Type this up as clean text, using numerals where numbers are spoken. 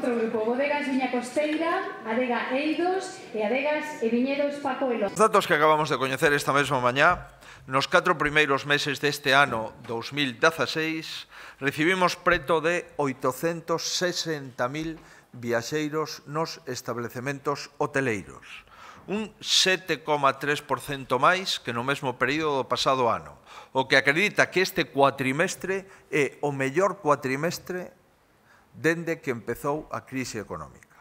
outro grupo, Bodegas Viña Costeira, Adega Eidos e Adegas e Viñedos Paco Elo. Os datos que acabamos de coñecer esta mesma mañá, nos 4 primeiros meses deste ano 2016, recibimos preto de 860.000 viaxeiros nos establecementos hoteleiros, un 7,3% máis que no mesmo período do pasado ano, o que acredita que este cuatrimestre é o mellor cuatrimestre dende que empezou a crise económica.